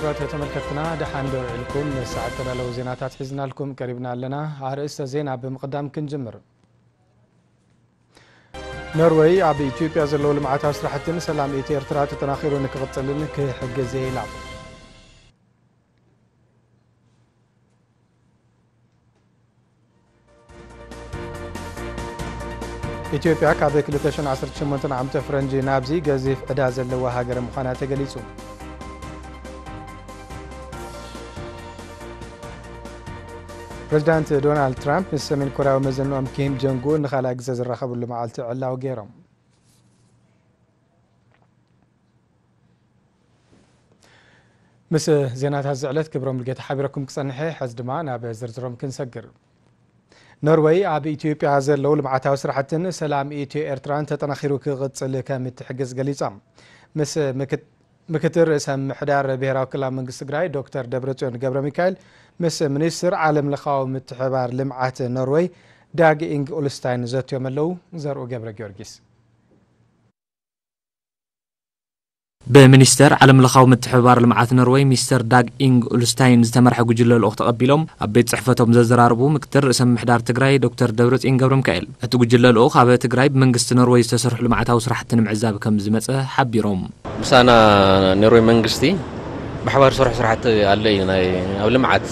ክቡራት ተመልከትና፣ ደሓን ዶ ውዒልኩም? ንሰዓት ተዳለዉ ዜናታት ሒዝናልኩም ቀሪብና ኣለና። ኣርእስተ ዜና ብምቕዳም ክንጅምር። ኖርወይ ኣብ ኢትዮጵያ ዘለዉ ልምዓታዊ ስራሕትን ሰላም ኢትዮ ኤርትራ ተጠናኺሩ ንክቕጽልን ክሕግዝ እየ ኢላ። ኢትዮጵያ ካብ ክልተ ሽሕን ዓሰርተ ሸሞንተን ዓመተ ፈረንጂ ናብዚ ገዚፍ ዕዳ ዘለዋ ሃገር ምዃና ተገሊጹ። ፕሬዚዳንት ዶናልድ ትራምፕ ምስ ሰሜን ኮርያዊ መዘንኦም ኪም ጆንግ ኡን ንኻልኣይ ግዜ ዝራኸብሉ መዓልቲ ዕላዊ ገይሮም። ምስ ዜናታት ዝዕለት ክብሮም ልጌታ ሓቢረኩም ክጸንሐ፣ ሕዚ ድማ ናብ ዝርዝሮም ክንሰግር። ኖርወይ ኣብ ኢትዮጵያ ዘለዉ ልምዓታዊ ስራሕትን ሰላም ኢትዮ ኤርትራን ተጠናኺሩ ክቕጽል ከም እትሕግዝ ገሊጻ። ምስ ምክት-፣ ምክትል ርእሰ ምሕዳር ብሔራዊ ክልላዊ መንግስቲ ትግራይ ዶክተር ደብረጽዮን ገብረ ሚካኤል ምስ ሚኒስትር ዓለም ለኻዊ ምትሕባር ልምዓት ኖርወይ ዳግ ኢንግ ኡልስታይን ዘትዮም ኣለዉ። ዘርኡ ገብረ ጊዮርጊስ። ብሚኒስተር ዓለም ለኻዊ ምትሕብባር ልምዓት ኖርወይ ሚስተር ዳግ ኢንግ ኡልስታይን ዝተመርሐ ጉጅለ ልኡኽ ተቐቢሎም ኣብ ቤት ጽሕፈቶም ዘዘራርቡ ምክትል ርእሰ ምምሕዳር ትግራይ ዶክተር ደብረጽዮን ገብረ ሚካኤል፣ እቲ ጉጅለ ልኡኽ ኣብ ትግራይ ብመንግስቲ ኖርወይ ዝተሰርሑ ልምዓታዊ ስራሕቲ ንምዕዛብ ከም ዝመጸ ሓቢሮም። ምሳና ኖርወይ መንግስቲ ብሓባር ዝሰርሑ ስራሕቲ ኣሎ እዩ። ናይ ኣብ ልምዓት፣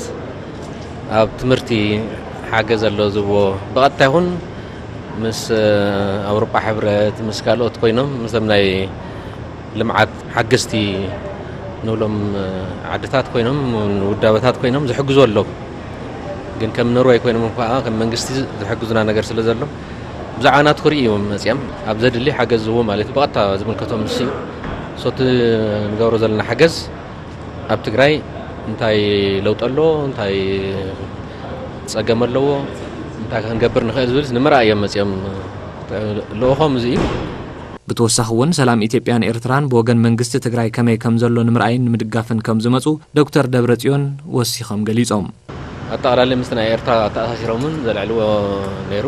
ኣብ ትምህርቲ ሓገዝ ኣሎ ዝብዎ ብቐጥታ ይኹን ምስ ኣውሮጳ ሕብረት፣ ምስ ካልኦት ኮይኖም፣ ምስቶም ናይ ልምዓት ሓገዝቲ ንብሎም ዓድታት ኮይኖም፣ ውዳበታት ኮይኖም ዝሕግዙ ኣለዉ። ግን ከም ኖርወይ ኮይኖም እኳ ከም መንግስቲ ዝሕግዙና ነገር ስለ ዘሎ፣ ብዛዕባ ናቱ ክርኢ እዮም መጺኦም። ኣብ ዘድሊ ሓገዝ ዝህቡ ማለት እዩ። ብቐጥታ ዝምልከቶም ንሱ እዩ። ሶቲ ንገብሮ ዘለና ሓገዝ ኣብ ትግራይ እንታይ ለውጢ ኣለዎ፣ እንታይ ጸገም ኣለዎ፣ እንታይ ክንገብር ንኽእል ዝብል ንምርኣይ እዮም መጺኦም። ልኡኾም እዚ እዩ። ብተወሳኺ እውን ሰላም ኢትዮጵያን ኤርትራን ብወገን መንግስቲ ትግራይ ከመይ ከም ዘሎ ንምርኣይን ንምድጋፍን ከም ዝመጹ ዶክተር ደብረጽዮን ወሲኾም ገሊጾም። ኣጠቓላሊ ምስቲ ናይ ኤርትራ ኣተኣሳሲሮምን ዘልዕልዎ ነይሩ።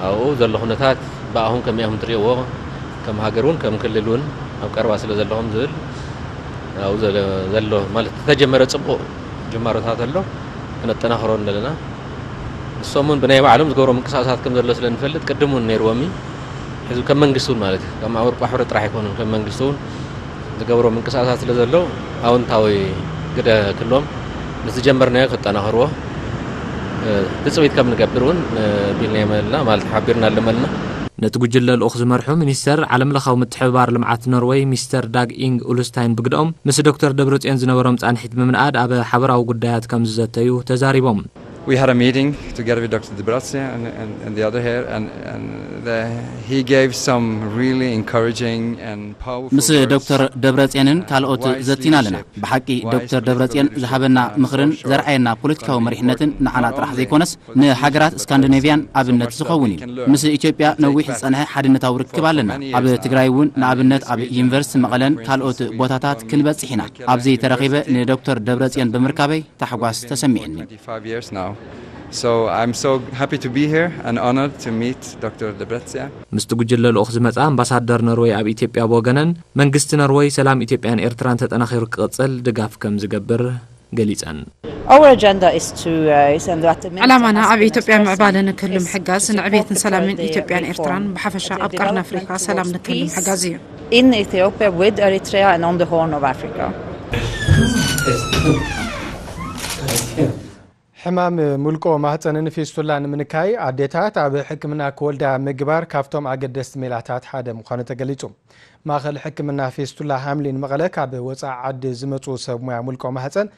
ኣብኡ ዘሎ ኩነታት ብኣኹም ከመይ ኢኹም ትርእይዎ? ከም ሃገር እውን ከም ክልል እውን ኣብ ቀረባ ስለ ዘለኹም ዝብል ኣብኡ ዘለ-፣ ዘሎ ማለት ዝተጀመረ ጽቡቕ ጅማሮታት ኣሎ፣ ክነጠናኽሮ ኣለና። ንሶም እውን ብናይ ባዕሎም ዝገብሮ ምንቅስቃሳት ከም ዘሎ ስለ ንፈልጥ ቅድም እውን ነይርዎም እዩ። ሕዚ ከም መንግስቲ እውን ማለት እዩ፣ ከም ኣውሮጳ ሕብረት ጥራሕ ኣይኮኑን፣ ከም መንግስቲ እውን ዝገብሮ ምንቅስቃሳት ስለ ዘሎ ኣወንታዊ ግደ ክህልዎም ምስ ዝጀመርናዮ ከጠናኽርዎ፣ እ፣ ትጽቢት ከም ንገብር እውን፣ እ፣ ቢልናዮም ኣለና ማለት ሓቢርና ኣለመልና። ነቲ ጉጅለ ልኡኽ ዝመርሑ ሚኒስተር ዓለም ለኻዊ ምትሕብባር ልምዓት ኖርወይ ሚስተር ዳግ ኢንግ ኡልስታይን ብግደኦም ምስ ዶክተር ደብረጽዮን ዝነበሮም ጻንሒት ብምንኣድ ኣብ ሓበራዊ ጉዳያት ከም ዝዘተዩ ተዛሪቦም። We had a meeting together with Doctor Debretsion and, and, and the other here, and, and the, he gave some really encouraging and powerful ምስ words. ዶክተር ደብረጽዮንን ካልኦት ዘቲና ኣለና። ብሓቂ ዶክተር ደብረጽዮን ዝሃበና ምኽርን ዘርኣየና ፖለቲካዊ መሪሕነትን ንዓና ጥራሕ ዘይኮነስ ንሃገራት ስካንዲኔቭያን ኣብነት ዝኸውን እዩ። ምስ ኢትዮጵያ ነዊሕ ዝጸንሐ ሓድነታዊ ርክብ ኣለና። ኣብ ትግራይ እውን ንኣብነት ኣብ ዩኒቨርሲቲ መቐለን ካልኦት ቦታታት ክንበጽሕ ኢና። ኣብዚ ተረኺበ ንዶክተር ደብረጽዮን ብምርካበይ ታሕጓስ ተሰሚዕኒ። twenty-five years now. So I'm so happy to be here and honored to meet Doctor Debretsion. ምስቲ ጉጅለ ልኡኽ ዝመጻ ኣምባሳደር ኖርወይ ኣብ ኢትዮጵያ ብወገነን፣ መንግስቲ ኖርወይ ሰላም ኢትዮጵያን ኤርትራን ተጠናኺሩ ክቕጽል ድጋፍ ከም ዝገብር ገሊጸን። Our agenda is to, uh, is, and that means ዕላማና ኣብ ኢትዮጵያ ምዕባለ ንክህሉ ምሕጋዝ፣ ንዕቤትን ሰላምን ኢትዮጵያን ኤርትራን ብሓፈሻ ኣብ ቀርኒ ኣፍሪካ ሰላም ንክህሉ ምሕጋዝ እዩ። In Ethiopia, with Eritrea, and on the Horn of Africa. ሕማም ሙልቆ ማህፀንን ፊስቱላን ንምንካይ ኣዴታት ኣብ ሕክምና ክወልዳ ምግባር ካብቶም ኣገደስቲ ሜላታት ሓደ ምዃኑ ተገሊጹ። ማእኸል ሕክምና ፊስቱላ ሃምሊን መቐለ ካብ ወፃኢ ዓዲ ዝመፁ ሰብ ሞያ ሙልቆ ማህፀን፣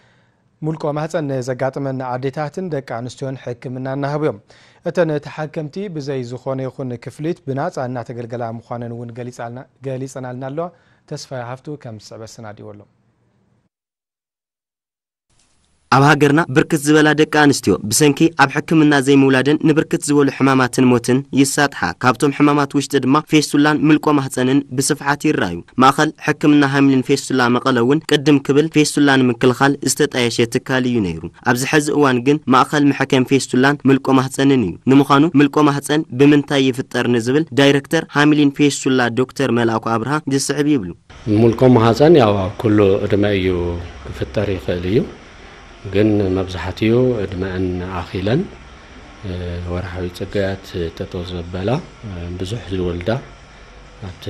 ሙልቆ ማህፀን ንዘጋጥመን ኣዴታትን ደቂ ኣንስትዮን ሕክምና እናሃቡ እዮም። እተን ተሓከምቲ ብዘይ ዝኾነ ይኹን ክፍሊት ብናፃ እናተገልገላ ምዃነን እውን ገሊፃልና-፣ ገሊፀናልና ኣለዋ። ተስፋ ሃፍቱ ከም ዝስዕበ ኣሰናዲዎ ኣሎ። ኣብ ሃገርና ብርክት ዝበላ ደቂ ኣንስትዮ ብሰንኪ ኣብ ሕክምና ዘይምውላደን ንብርክት ዝበሉ ሕማማትን ሞትን ይሳጥሓ። ካብቶም ሕማማት ውሽጢ ድማ ፌስቱላን ምልቆ ማህፀንን ብስፍሓት ይረኣዩ። ማእኸል ሕክምና ሃምሊን ፌስቱላ መቐለ እውን ቅድም ክብል ፌስቱላ ንምክልኻል ዝተጣየሸ ትካል እዩ ነይሩ። ኣብዚ ሕዚ እዋን ግን ማእኸል መሐከም ፌስቱላን ምልቆ ማህፀንን እዩ። ንምዃኑ ምልቆ ማህፀን ብምንታይ ይፍጠር ንዝብል ዳይሬክተር ሃምሊን ፌስቱላ ዶክተር መልኣኩ ኣብርሃ ዝስዕብ ይብሉ። ምልቆ ማህፀን ያው ኣብ ኩሉ ዕድመ እዩ ክፍጠር ይኽእል እዩ። ግን መብዛሕትኡ ዕድመአን ኣኺለን፣ እ፣ ወርሓዊ ጽገያት ጠጠው ዘበላ፣ እ፣ ብዙሕ ዝወልዳ፣ ኣብቲ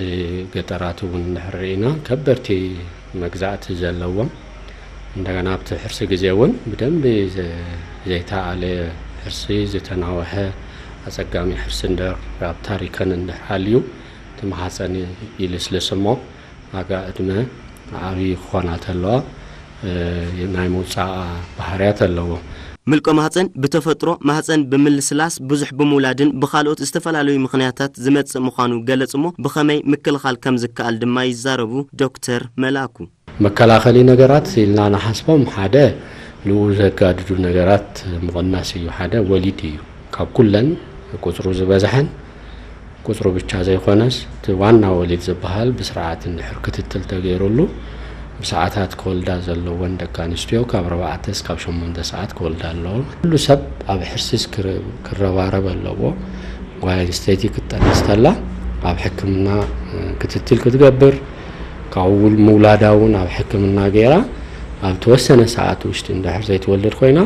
ገጠራት እውን እንድሕር ርኢና ከበድቲ መግዛእቲ ዘለዎም፣ እንደገና ኣብቲ ሕርሲ ግዜ እውን ብደንቢ ዘ-፣ ዘይተኣለ ሕርሲ፣ ዝተናወሐ ኣጸጋሚ ሕርሲ እንድሕር ኣብ ታሪኸን እንድሕር ሃልዩ፣ እቲ ማህፀን ይልስልስ እሞ፣ ዋጋ ዕድመ ዓብዪ ክኾና ተለዋ፣ እ፣ ናይ ምውፃእ ባህርያት ኣለዎ። ምልቆ ማህፀን ብተፈጥሮ ማህፀን ብምልስላስ፣ ብዙሕ ብምውላድን ብኻልኦት ዝተፈላለዩ ምኽንያታት ዝመፅእ ምዃኑ ገለፅ እሞ፣ ብኸመይ ምክልኻል ከም ዝከኣል ድማ ይዛረቡ ዶክተር መላኩ። መከላኸሊ ነገራት ኢልና ንሓስቦም፣ ሓደ ንኡ ዘጋድዱ ነገራት ምቕናስ እዩ። ሓደ ወሊድ እዩ። ካብ ኩለን ቁፅሩ ዝበዝሐን ቁፅሩ ብቻ ዘይኮነስ፣ እቲ ዋና ወሊድ ዝበሃል ብስርዓት እንድሕር ክትትል ተገይሩሉ፣ ብሰዓታት ክወልዳ ዘለወን ደቂ ኣንስትዮ ካብ ኣርባዕተ እስካብ ሸሞንተ ሰዓት ክወልዳ ኣለዎ። ኩሉ ሰብ ኣብ ሕርሲስ ክረ-፣ ክረባረብ ኣለዎ። ጓል ኣንስተይቲ ክትጠንስ ተላ ኣብ ሕክምና፣ እ፣ ክትትል ክትገብር፣ ካብኡ ምውላዳ እውን ኣብ ሕክምና ገይራ ኣብ ተወሰነ ሰዓት ውሽጢ እንድሕር ዘይትወልድ ኮይና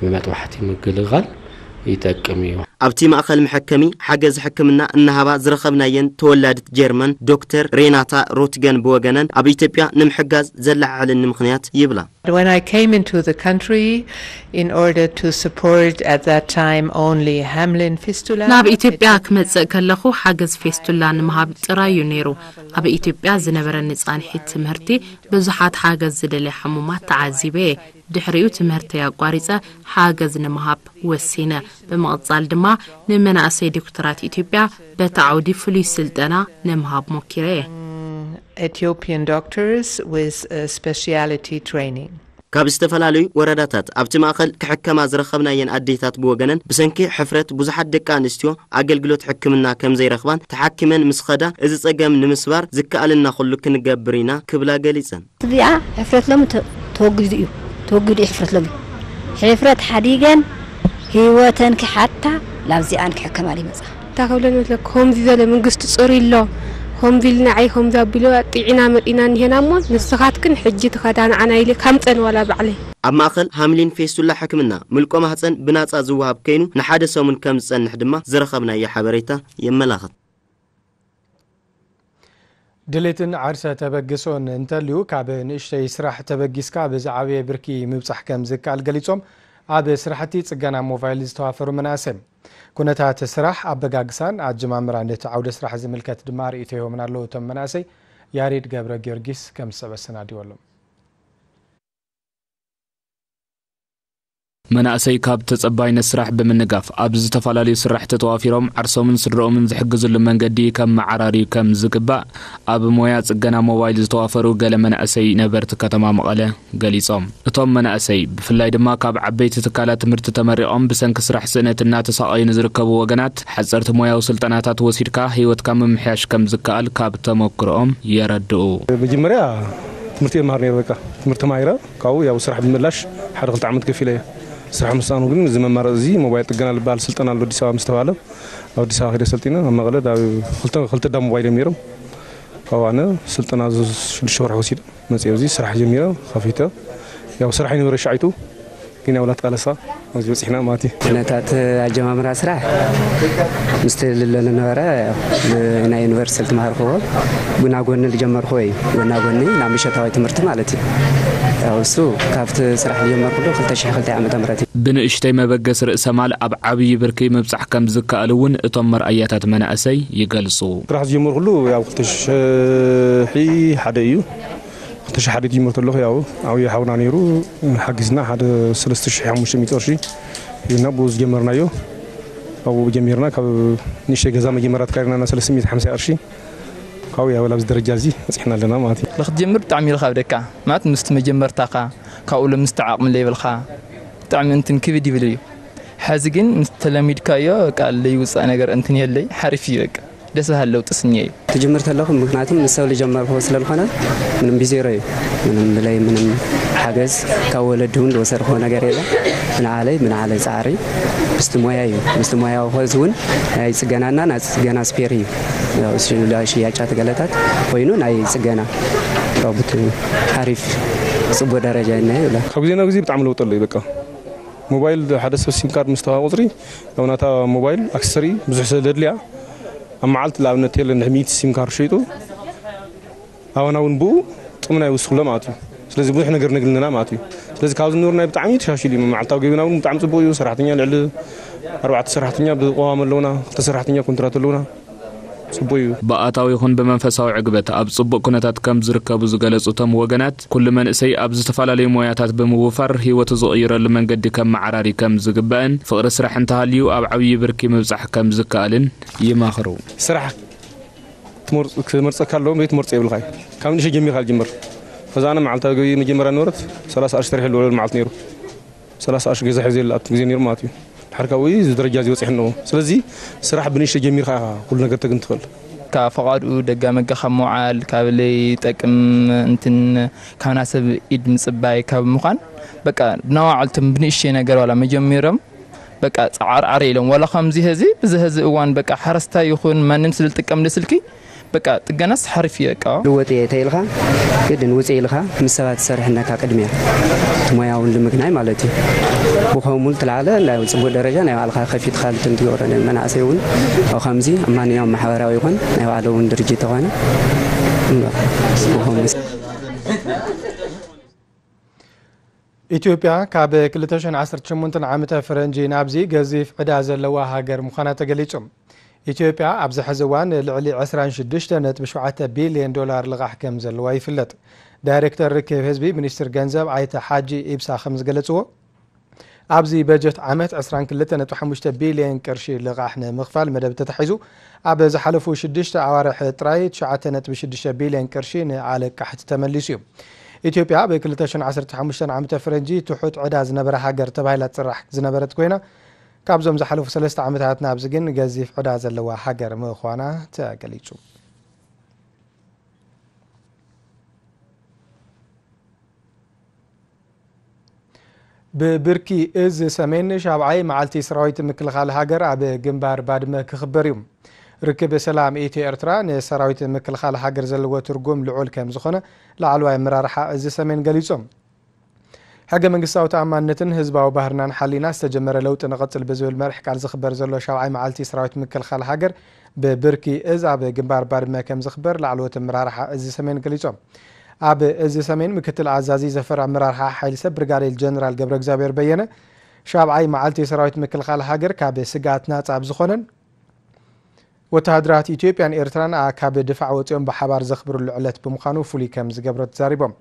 ብመጥባሕቲ ምግልጋል ይጠቅም እዩ። ኣብቲ ማእኸል መሐከሚ ሓገዝ ሕክምና እናሃባ ዝረኸብናየን ተወላድት ጀርመን ዶክተር ሬናታ ሮትገን ብወገነን፣ ኣብ ኢትዮጵያ ንምሕጋዝ ዘለዓዕለኒ ምኽንያት ይብላ። When I came into the country in order to support at that time only Hamlin fistula, ናብ ኢትዮጵያ ክመጽእ ከለኹ ሓገዝ ፌስቱላ ንምሃብ ጥራይ እዩ ነይሩ። ኣብ ኢትዮጵያ ዝነበረኒ ጻንሒት ትምህርቲ ብዙሓት ሓገዝ ዝደልያ ሕሙማት ተዓዚበ እየ። ድሕሪኡ ትምህርተይ ኣቋሪጸ ሓገዝ ንምሃብ ወሲነ። ብምቕጻል ድማ ንመናእሰይ ዶክተራት ኢትዮጵያ በቲ ዓውዲ ፍሉይ ስልጠና ንምሃብ ሞኪረ እየ። Ethiopian doctors with, uh, speciality training. ካብ ዝተፈላለዩ ወረዳታት ኣብቲ ማእኸል ክሕከማ ዝረኸብናየን ኣዴታት ብወገነን፣ ብሰንኪ ሕፍረት ብዙሓት ደቂ ኣንስትዮ ኣገልግሎት ሕክምና ከም ዘይረኽባን፣ ተሓኪመን ምስ ኸዳ እዚ ጸገም ንምስባር ዝከኣለና ኩሉ ክንገብር ኢና ክብላ ገሊጸን። እዚኣ ሕፍረት ሎሚ ተ-፣ ተወጊዱ እዩ። ተወጊዱ እዩ ሕፍረት ሎሚ። ሕፍረት ሓዲገን ህይወተን ክሓታ ላብዚኣን ክሕከማ ይመጻ። እንታይ ክብለን መስለክ? ከምዚ ዘለ መንግስቲ ጽሩይ ኣሎ። ከምዚ ኢልና ዓይ ከምዚ ኣቢሎ ጥዒና መጢና እኒሄና እሞ ንስኻትክን ሕጂ ትኸዳ ንዓና ኢለ ካምጸን ዋላ ባዕለይ። ኣብ ማእኸል ሃምሊን ፌስቱላ ሕክምና ምልቆ ማህፀን ብናፃ ዝወሃብ ከይኑ ንሓደ ሰሙን ከም ዝጸንሕ ድማ ዝረኸብናዮ ሓበሬታ የመላኽት። ድሌትን ዓርሰ ተበግሶን እንተልዩ ካብ ንእሽተይ ስራሕ ተበጊስካ ኣብ ዝዓበየ ብርኪ ምብጻሕ ከም ዝከኣል ገሊጾም፣ ኣብ ስራሕቲ ጽገና ሞባይል ዝተዋፈሩ መናእሰይ። ኩነታት ስራሕ ኣበጋግሳን ኣጀማምራን ነቲ ዓውደ ስራሕ ዝምልከት ድማ ርእይቶ ይህቦምና ኣለዉ። እቶም መናእሰይ ያሬድ ገብረ ጊዮርጊስ ከም ዝሰበ ኣሰናዲዎ ኣሎ። መናእሰይ ካብ ተጸባይነት ስራሕ ብምንጋፍ ኣብ ዝተፈላለዩ ስራሕቲ ተዋፊሮም ዓርሶምን ስድረኦምን ዝሕግዝሉ መንገዲ ከመዓራርዩ ከም ዝግባእ ኣብ ሞያ ጽገና ሞባይል ዝተዋፈሩ ገለ መናእሰይ ነበርቲ ከተማ መቐለ ገሊጾም። እቶም መናእሰይ ብፍላይ ድማ ካብ ዓበይቲ ትካላት ትምህርቲ ተመሪቖም ብሰንኪ ስራሕ ስእነት እናተሳቐዩ ንዝርከቡ ወገናት ሓጸርቲ ሞያዊ ስልጠናታት ወሲድካ ህይወትካ ምምሕያሽ ከም ዝከኣል ካብ ተመክሮኦም የረድኡ። መጀመርያ ትምህርቲ እየ መሃር ነይረ። በቃ ትምህርቲ ተማሂረ ካብኡ ያው ስራሕ ብምላሽ ሓደ ክልተ ዓመት ከፊለ እየ። ስራሕ ምስኣኑ ግን እዚ መማረፂ እዚ ሞባይል ጥገና ዝበሃል ስልጠና ኣሎ ኣዲስ ኣበባ ምስ ተባለ ኣብ ኣዲስ ኣበባ ከይደ ሰልጢነ ኣብ መቐለ ዳ-፣ ክልተ፣ ክልተ ዳ ሞባይል እዮም ነይሮም። ካብኡ ኣነ ስልጠና ዝ-፣ ሽዱሽተ ወርሒ ወሲደ መፅየ። ኣብዚ ስራሕ ጀሚረ ከፊተ። ያው ስራሕ ይነበረ ሻዒቱ ግን ያው ላትቃለሳ ኣብዚ በፂሕና ማለት እዩ። ኩነታት ኣጀማምራ ስራሕ ምስቲ ልለ ነበረ። ናይ ዩኒቨርሲቲ ዝተማሃርክዎ ጎና ጎኒ ዝጀመርክዎ እዩ። ጎና ጎኒ ናብ ምሸታዊ ትምህርቲ ማለት እዩ። ያው እሱ ካብቲ ስራሕ ዝጀመርኩሉ ክልተ ሽሕ ክልተ ዓመተ ምህረት እዩ። ብንእሽተይ መበገሲ ርእሰ ማል ኣብ ዓብዪ ብርኪ ምብጻሕ ከም ዝከኣል እውን እቶም መርኣያታት መናእሰይ ይገልጹ። ስራሕ ዝጀመርኩሉ ያው ክልተ ሽሕ ሓደ እዩ። ክልተ ሽሕ ሓደ ጅምር ተለኹ ያው ዓብዪ ሓውና ነይሩ ሓጊዝና ሓደ ሰለስተ ሽሕ ሓሙሽተ ሚእቲ ቅርሺ ሂብና ብኡ ዝጀመርናዮ። ኣብኡ ጀሚርና ካብ ንእሽተይ ገዛ መጀመርያ ተካሪና ሰለስተ ሚእቲ ሓምሳ ቅርሺ ካብኡ ያው ላብዚ ደረጃ እዚ በፂሕና ኣለና ማለት እዩ። ንክትጀምር ብጣዕሚ እዩ ዝኸብደካ ማለት ምስቲ መጀመርታኻ ካብኡ ሎምስ ዓቕሚ ለይብልካ ብጣዕሚ እንትን ክብድ ይብል እዩ። ሕዚ ግን ምስ ተለሚድካዮ በቃ ለይውፃእ ነገር እንትን የለይ፣ ሓሪፍ እዩ። በቃ ደስ በሃሊ ለውጢ ስኒኤ እዩ። ትጅምር ተለኹ፣ ምክንያቱም ምስ ሰብ ዝጀመርኩ ስለዝኾነ ምንም ብዜሮ እዩ። ምንም ብለይ ምንም ሓገዝ ካብ ወለዲ እውን ዝወሰድኩዎ ነገር የለ። ብንዓለይ ብንዓለይ ፃዕሪ ምስቲ ሞያ እዩ። ምስቲ ሞያ ኸዚ እውን ናይ ፅገናና ናይ ፅገና ስፔር እዩ። ያው ሽያጫት ገለታት ኮይኑ ናይ ፅገና ሮቦት ሓሪፍ ፅቡቅ ደረጃ እኒሀ ይብላ። ካብ ግዜ ናብ ግዜ ብጣዕሚ ለውጢ ኣሎ እዩ። በቃ ሞባይል ሓደ ሰብ ሲም ካርድ ምስ ተዋሃበ ቁፅሪ፣ ያው ናታ ሞባይል ኣክሰሰሪ ብዙሕ ስለ ዘድልያ፣ ኣብ መዓልቲ ንኣብነት የለን ሚእቲ ሲም ካርድ ሸይጡ ኣባና እውን ብኡ ጥቕሚ ናይ ውስኽሎ ማለት እዩ። ስለዚ ብዙሕ ነገር ነግልንና ማለት እዩ። ስለዚ ካብ ዝነበሩ ናይ ብጣዕሚ ተሻሽሉ እዩ። መዓልታዊ ገቢና እውን ብጣዕሚ ፅቡቅ እዩ። ሰራሕተኛ ልዕሊ ኣርባዕተ ሰራሕተኛ ብቋዋም ኣለውና፣ ክልተ ሰራሕተኛ ኮንትራት ኣለውና። ጽቡቅ እዩ። ብኣታዊ ይኹን ብመንፈሳዊ ዕግበት ኣብ ጽቡቕ ኩነታት ከም ዝርከቡ ዝገለጹ እቶም ወገናት፣ ኩሉ መንእሰይ ኣብ ዝተፈላለዩ ሞያታት ብምውፋር ህይወቱ ዝቕይረሉ መንገዲ ከመዓራሪ ከም ዝግባእን፣ ፍቕሪ ስራሕ እንተሃልዩ ኣብ ዓብዪ ብርኪ ምብጻሕ ከም ዝከኣልን ይመኽሩ። ስራሕ ትመርጽ-፣ ክመርጸካ ኣለዎም ዘይትመርጾ የብልካይ። ካብ ንእሽተይ ጀሚርካ ዝጅምር። ከዛ ኣነ መዓልታዊ ገቢ መጀመርያ ነበረት ሰላሳ ቅርሺ ተሪሐ ልውዕል መዓልቲ ነይሩ። ሰላሳ ቅርሺ ገዛ ሒዘ ይኣቱ ግዜ ነይሩ ማለት እዩ። ድሓር ካብኡ እዚ ደረጃ እዚ በጺሑ ኣለዎ። ስለዚ ስራሕ ብንእሽተይ ጀሚርካ ኢኻ ኩሉ ነገር ተግን ትኽእል። ካብ ፈቓድኡ ደጋ መጋ ካብ ምውዓል፣ ካብ ለይጠቅም እንትን ካብ ናሰብ ኢድ ምጽባይ ካብ ምዃን፣ በቃ ብናዋዕልቶም ብንእሽተይ ነገር ዋላ መጀሚሮም፣ በቃ ጻዓርዓር ኢሎም ዋላ ከምዚ ሀዚ ብዚ ሀዚ እዋን በቃ ሓረስታይ ይኹን ማንም ስለ ዝጥቀም ለስልኪ በቃ ጥገናስ ሓሪፍ እዩ በቃ። ልወጥ እየ ተይልካ ግድን ውፅእ ኢልካ ምስ ሰባት ትሰርሕ እነካ ቅድሚያ እቲ ሞያ እውን ልምግናይ ማለት እዩ። ብኸምኡ ትለዓለ ናይ ፅቡቅ ደረጃ ናይ ባዕልካ ከፊትካ ልትን ትገብሮ ናይ መናእሰይ እውን ኣብ ከምዚ ኣብ ማንኛውም ማሕበራዊ ይኹን ናይ ባዕሉ እውን ድርጅት ተኾነ እምበር ብኸምኡ ኢትዮጵያ ካብ ክልተ ሽሕን ዓሰርተ ሸሞንተን ዓመተ ፈረንጂ ናብዚ ገዚፍ ዕዳ ዘለዋ ሃገር ምዃና ተገሊጹ። ኢትዮጵያ ኣብዚ ሕዚ እዋን ልዕሊ ዕስራን ሽዱሽተ ነጥቢ ሸውዓተ ቢልዮን ዶላር ልቓሕ ከም ዘለዋ ይፍለጥ። ዳይሬክተር ርክብ ህዝቢ ሚኒስትር ገንዘብ ኣይተ ሓጂ ኢብሳ ከም ዝገለጽዎ፣ ኣብዚ በጀት ዓመት ዕስራን ክልተ ነጥቢ ሓሙሽተ ቢልዮን ቅርሺ ልቓሕ ንምኽፋል መደብ ተታሒዙ፣ ኣብ ዝሓለፉ ሽዱሽተ ኣዋርሕ ጥራይ ትሽዓተ ነጥቢ ሽዱሽተ ቢልዮን ቅርሺ ንኣለቃሕቲ ተመሊሱ እዩ። ኢትዮጵያ ኣብ ክልተ ሽሕን ዓሰርተ ሓሙሽተን ዓመተ ፈረንጂ ትሑት ዕዳ ዝነበራ ሃገር ተባሂላ ትፅራሕ ዝነበረት ኮይና፣ ካብዞም ዝሓለፉ ሰለስተ ዓመታት ናብዚ ግን ገዚፍ ዕዳ ዘለዋ ሃገር ምዃና ተገሊጹ። ብብርኪ እዝ ሰሜን ሻብዓይ መዓልቲ ሰራዊት ምክልኻል ሃገር ኣብ ግንባር ባድመ ክኽበር እዩ። ርክብ ሰላም ኢትዮ ኤርትራ ንሰራዊት ምክልኻል ሃገር ዘለዎ ትርጉም ልዑል ከም ዝኾነ ላዕለዋይ ኣመራርሓ እዝ ሰሜን ገሊጾም። ሕገ መንግስታዊ ተኣማንነትን ህዝባዊ ባህርናን ሓሊና ዝተጀመረ ለውጢ ንቐጽል ብዝብል መርሕ ቃል ዝኽበር ዘሎ ሻብዓይ መዓልቲ ሰራዊት ምክልኻል ሃገር ብብርኪ እዝ ኣብ ግንባር ባድመ ከም ዝኽበር ላዕለዎት ኣመራርሓ እዝ ሰሜን ገሊጾም። ኣብ እዝ ሰሜን ምክትል ኣዛዚ ዘፈር ኣመራርሓ ሓይሊ ሰብ ብርጋዴር ጀነራል ገብረ እግዚኣብሔር በየነ፣ ሻብዓይ መዓልቲ ሰራዊት ምክልኻል ሃገር ካብ ስግኣት ናጻ ኣብ ዝኾነን ወተሃደራት ኢትዮጵያን ኤርትራን ኣካብ ድፋዕ ወፂኦም ብሓባር ዘኽብርሉ ዕለት ብምዃኑ ፍሉይ ከም ዝገብሮ ተዛሪቦም።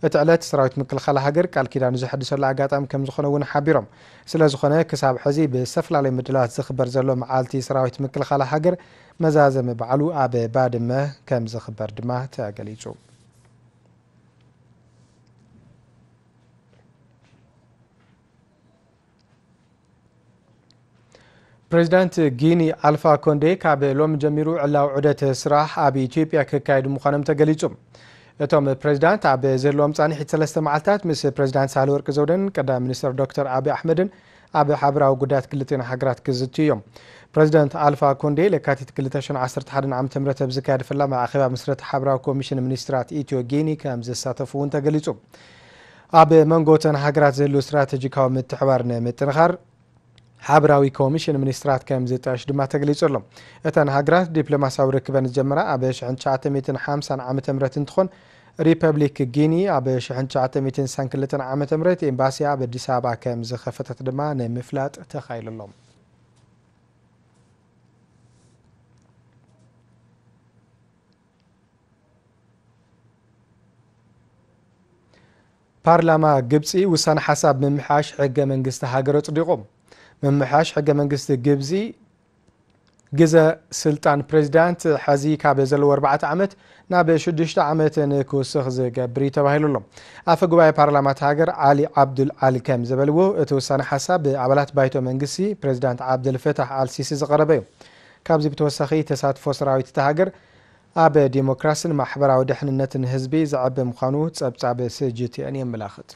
እቲ ዕለት ሰራዊት ምክልኻል ሃገር ቃል ኪዳኑ ዘሐድሰሉ ኣጋጣሚ ከም ዝኾነ እውን ሓቢሮም። ስለ ዝኾነ ክሳብ ሕዚ ብዝተፈላለዩ ምድላዋት ዝኽበር ዘሎ መዓልቲ ሰራዊት ምክልኻል ሃገር መዛዘሚ በዓሉ ኣብ ባድመ ከም ዝኽበር ድማ ተገሊጹ። ፕሬዚዳንት ጊኒ ኣልፋ ኮንዴ ካብ ሎሚ ጀሚሩ ዕላዊ ዑደት ስራሕ ኣብ ኢትዮጵያ ክካየዱ ምዃኖም ተገሊጹ። እቶም ፕሬዚዳንት ኣብ ዘለዎም ጻንሒት ሰለስተ መዓልታት ምስ ፕሬዚዳንት ሳህለወርቅ ዘውደን ቀዳማይ ሚኒስትር ዶክተር ኣቢ ኣሕመድን ኣብ ሓበራዊ ጉዳያት ክልቲኤን ሃገራት ክዝትዩ እዮም። ፕሬዚዳንት ኣልፋ ኮንዴ ለካቲት ክልተ ሽሕን ዓሰርተ ሓደን ዓመተ ምህረት ኣብ ዝካየድ ፈላማይ ኣኼባ ምስረታ ሓበራዊ ኮሚሽን ሚኒስትራት ኢትዮ ጊኒ ከም ዝሳተፉ እውን ተገሊጹ። ኣብ መንጎ እተን ሃገራት ዘሎ ስትራተጂካዊ ምትሕባር ንምጥንኻር ሓበራዊ ኮሚሽን ሚኒስትራት ከም ዝጣየሽ ድማ ተገሊጹ ኣሎ። እተን ሃገራት ዲፕሎማሲያዊ ርክበን ዝጀመራ ኣብ ሽሕን ትሽዓተ ሚእትን ሓምሳን ዓመተ ምህረት እንትኾን፣ ሪፐብሊክ ጊኒ ኣብ ሽሕን ትሽዓተ ሚእትን ስሳን ክልተን ዓመተ ምህረት ኤምባሲያ ኣብ ኣዲስ ኣበባ ከም ዝኸፈተት ድማ ንምፍላጥ ተኻኢሉ ኣሎ። ፓርላማ ግብጺ ውሳነ ሓሳብ ምምሕያሽ ሕገ መንግስቲ ሃገር ኣጽዲቑ። ምምሕያሽ ሕገ መንግስቲ ግብጺ ግዘ ስልጣን ፕሬዚዳንት ሕዚ ካብ ዘለዎ ኣርባዕተ ዓመት ናብ ሽዱሽተ ዓመት ንክውስኽ ዝገብር እዩ ተባሂሉ ኣሎ። ኣፈ ጉባኤ ፓርላማ እታ ሃገር ዓሊ ዓብዱል ዓሊ ከም ዝበልዎ፣ እቲ ውሳነ ሓሳብ ብኣባላት ባይቶ መንግስቲ ፕሬዚዳንት ዓብደል ፈታሕ ኣልሲሲ ዝቐረበ እዩ። ካብዚ ብተወሳኺ፣ ተሳትፎ ሰራዊት እታ ሃገር ኣብ ዲሞክራስን ማሕበራዊ ድሕንነትን ህዝቢ ዘዕቢ ምዃኑ ጸብጻብ ስጅትኤን የመላኽት።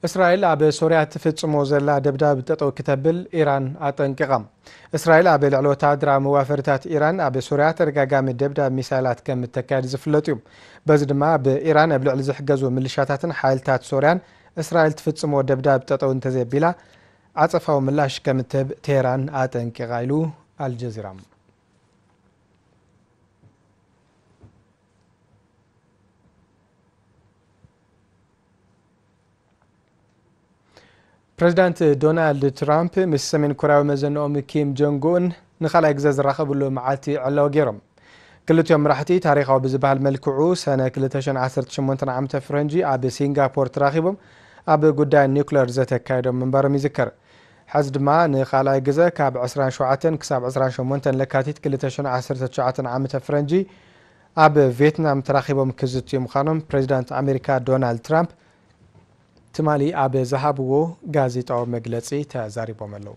እስራኤል ኣብ ሶርያ ትፍጽሞ ዘላ ደብዳብ ጠጠው ክተብል ኢራን ኣጠንቂቓ። እስራኤል ኣብ ልዕሊ ወተሃደራዊ መዋፈሪታት ኢራን ኣብ ሶርያ ተደጋጋሚ ደብዳብ ሚሳይላት ከም እተካየድ ዝፍለጥ እዩ። በዚ ድማ ብኢራን ኣብ ልዕሊ ዝሕገዙ ምልሻታትን ሓይልታት ሶርያን እስራኤል ትፍጽሞ ደብዳብ ጠጠው እንተዘይቢላ ዓጸፋዊ ምላሽ ከም እትህብ ቴህራን ኣጠንቂቓ ኢሉ ኣልጀዚራ። ፕሬዚዳንት ዶናልድ ትራምፕ ምስ ሰሜን ኮርያዊ መዘንኦም ኪም ጆንግ ኡን ንኻልኣይ ግዜ ዝራኸብሉ መዓልቲ ዕላዊ ገይሮም። ክልቲኦም መራሕቲ ታሪኻዊ ብዝበሃል መልክዑ ሰነ ክልተ ሽሕን ዓሰርተ ሸሞንተን ዓመተ ፈረንጂ ኣብ ሲንጋፖር ተራኺቦም ኣብ ጉዳይ ኒውክለር ዘተካየዶም ምንባሮም ይዝከር። ሕዚ ድማ ንኻልኣይ ግዜ ካብ ዕስራን ሸውዓተን ክሳብ ዕስራን ሸሞንተን ለካቲት ክልተ ሽሕን ዓሰርተ ትሽዓተን ዓመተ ፈረንጂ ኣብ ቪየትናም ተራኺቦም ክዝትዩ ምዃኖም ፕሬዚዳንት ኣሜሪካ ዶናልድ ትራምፕ ትማሊ ኣብ ዝሃብዎ ጋዜጣዊ መግለጺ ተዛሪቦም ኣለዉ።